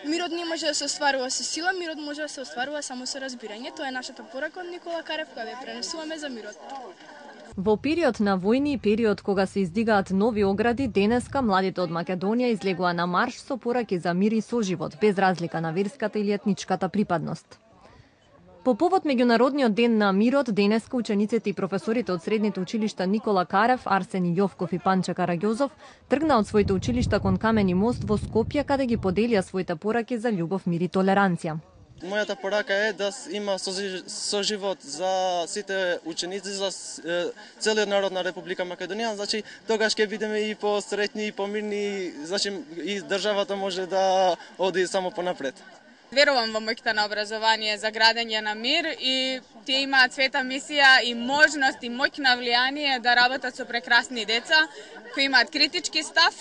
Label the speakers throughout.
Speaker 1: Мирот не може да се остварува со сила, мирот може да се остварува само со разбирање. Тоа е нашата порака од Никола Карев, која ја пренесуваме за мирот.
Speaker 2: Во период на војни и период кога се издигаат нови огради, денеска младите од Македонија излегува на марш со пораки за мир и соживот, без разлика на верската или етничката припадност. По повод Меѓународниот ден на мирот, денеска учениците и професорите од средните училишта Никола Карев, Арсени Јовков и Панче Караѓозов тргна од своите училишта кон Камени мост во Скопје, каде ги поделија своите пораки за љубов, мир и толеранција.
Speaker 3: Мојата порака е да има соживот за сите ученици, за целиот народ на Република Македонија. Значи, тогаш ќе бидеме и посреќни и помирни, значи и државата може да оди само понапред.
Speaker 4: Верувам во моќта на образование за градење на мир и тие имаат света мисија и можност и моќ на влијание да работат со прекрасни деца кои имаат критички став,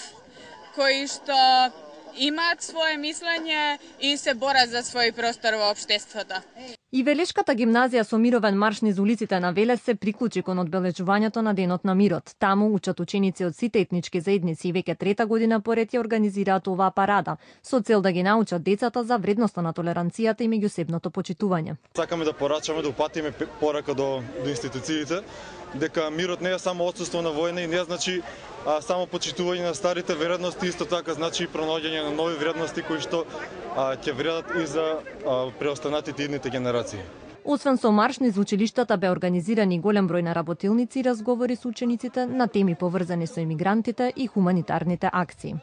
Speaker 4: кои што имаат свое мислење и се борат за свој простор во општеството.
Speaker 2: И Велешката гимназија со мировен марш низ улиците на Велес се приклучи кон одбележувањето на Денот на мирот. Таму учат ученици од сите етнички заедници и веќе трета година поред ја организираат оваа парада, со цел да ги научат децата за вредноста на толеранцијата и меѓусебното почитување.
Speaker 5: Сакаме да порачаме, да упатиме порака до институциите, дека мирот не е само отсуство на војна и не значи само почитување на старите вредности, исто така значи и пронаоѓање на нови вредности кои што ќе вредат и за преостанатите идните генерации.
Speaker 2: Освен со марш низ училиштата бе организирани голем број на работилници и разговори со учениците на теми поврзани со имигрантите и хуманитарните акции.